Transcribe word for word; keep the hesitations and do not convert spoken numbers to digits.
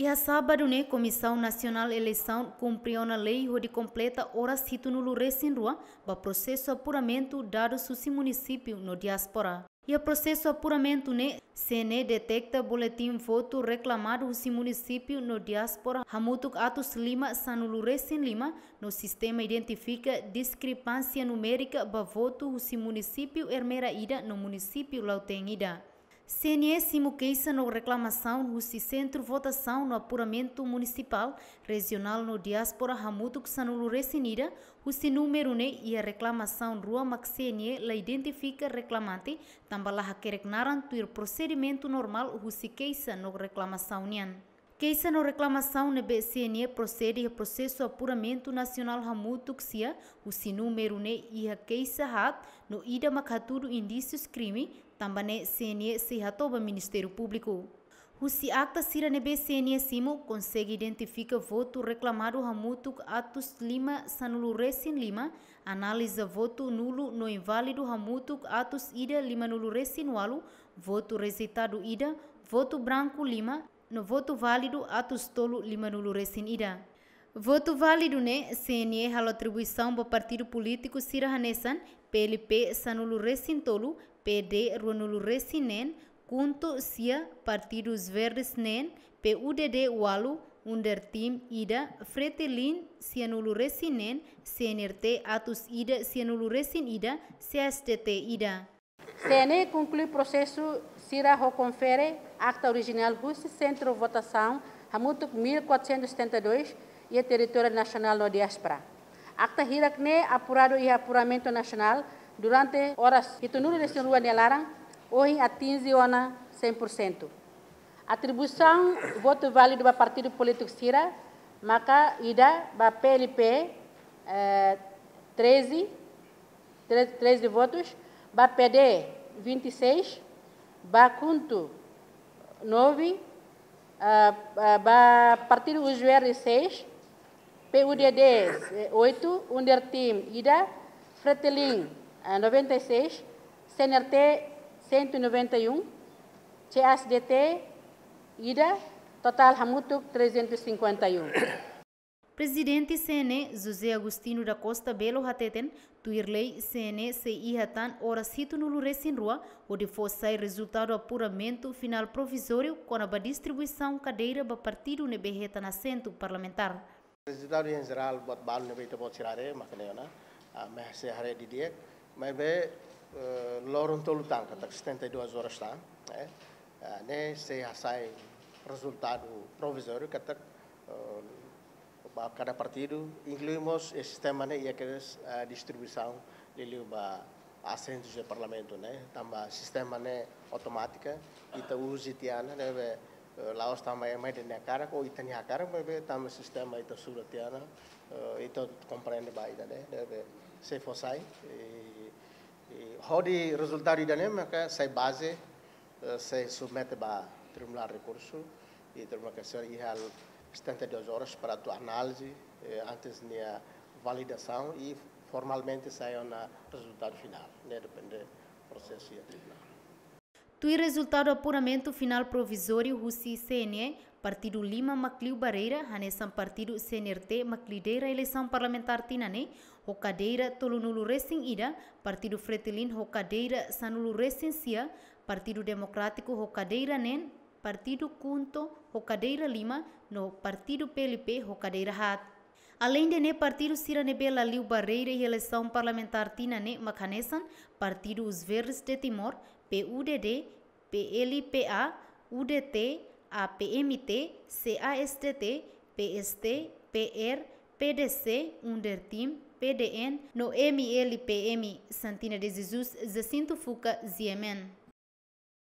Iha sábadu ne'e, Komisaun Nasionál Eleisaun kumpre ona lei hodi kompleta oras hitunulu resin rua ba prosesu apuramentu dadus husi munisípiu no diáspora. Iha prosesu apuramentu ne'e, C N E deteta boletin votu reklamadu husi munisípiu no diáspora hamutuk atus lima sanulu resin lima, no sistema identifika diskrepánsia numérika ba votu husi munisípiu Ermera ida no munisípiu Lautém ida. C N E simu keixa no reklamasaun husi sentru votasaun no apuramentu munisipál, rejionál no diáspora hamutuk sanulu resin ida, husi númeru ne'e iha reklamasaun rua mak C N E la identifika reklamante, tanba la hakerek naran tuir prosedimentu normál husi keixa no reklamasaun nian. Keixa no reklamasaun ne'ebé C N E prosede iha prosesu apuramentu nasionál hamutuk sia, husi númeru ne'e iha keixa haat, no ida mak hatudu indísius krime, tanba ne'e C N E sei hato'o ba Ministériu Públiku. Husi akta sira ne'ebé C N E simu, konsege identifika votu reklamadu hamutuk atus lima sanulu resin lima, analiza votu nulu no inválidu hamutuk atus ida limanulu resin ualu, votu rejeitadu ida, votu branku lima, no votu válidu atus tolu limanulu resin ida. Votu válidu ne'e, C N E halo atribuisaun ba partidu polítiku sira hanesan P L P sanulu resin tolu, P D ruanulu resin neen, KHUNTO sia, Partidu Os Verdes neen, P U D D ualu, UNDERTIM ida, FRETILIN sianulu resin neen, C N R T atus ida sianulu resin ida, C A S D T ida. C N E konklui prosesu sira ho konfere akta orijinál husi sentru votasaun hamutuk mil quatrocentos e setenta e dois iha territóriu nasionál no diáspora. Akta hirak ne'e apuradu iha apuramentu nasionál durante oras hitunulu resin rua nia laran, ohin atinje ona cem por cento. Atribuisaun votu válidu ba partidu polítiku sira maka ida ba P L P, eh, treze, tre-, treze votus, ba P D vinte e seis, ba KHUNTO nove, ah, ah, ba Partidu Os Verdes seis, P U D D, eh, oito, UNDERTIM ida, FRETILIN, eh, noventa e seis, C N R T cento e noventa e um, C A S D T ida, totál hamutuk trezentos e cinquenta e um. Prezidente C N E, José Agostinho da Costa Belo hateten, tuir lei C N E sei iha tan oras hitunulu resin rua, hodi fó sai rezultadu apuramentu finál provizóriu kona-ba distribuisaun kadeira ba partidu ne'ebé hetan asentu parlamentár. Rezultadu em geral, buat balu ne'ebé ita-boot sira haree, mak ne'e ona, ah, mak sei haree didi'ak, maibé, eh, loron tolu tan, katak setenta e duas horas tan, eh, ah, ne'e sei hasai rezultadu provizóriu, katak, eh, ba kada partidu, inklui mós, eh, sistema ne'e iha kedas, eh, distribuisaun liuliu ba asentus iha Parlamentu ne'e, tanba sistema ne'e automátika, ita uza tiha ona, ne'ebé, eh, la'ós tanba ema ida-ne'e hakarak, ou ita-nia hakarak, maibé tanba sistema ita estuda tiha ona, eh, ita komprende ba ida-ne'e, ne'ebé sei fó sai, i, i hodi rezultadu ida-ne'e maka sai baze, eh, sei submete ba Tribunál Rekursu, i Tribunál Kasasaun iha setenta e duas horas para atu análize, eh, antes nia validasaun i formalmente sai ona rezultadu finál, ne'e depende prosesu iha tribunál. Tuir rezultadu apuramentu finál provizóriu husi C N E, partidu lima mak liu barreira, hanesan partidu C N R T mak lidera eleisaun parlamentár tinan ne'e, ho kadeira tolunulu resin ida, partidu FRETILIN ho kadeira sanulu resin sia, Partidu Demokrátiku ho kadeira neen, Partidu KHUNTO ho kadeira lima, no Partidu P L P ho kadeira haat. Aleinde ne'e, partidu sira ne'ebé la liu barreira iha eleisaun parlamentár tinan ne'e mak hanesan Partidu Os Verdes de Timor, P U D D, P L P A, U D T, A P M T, C A S D T, P S T, P R, P D C, UNDERTIM, P D N, no M L P M, Santina de Jesus, Jacinto Fuca, G M N.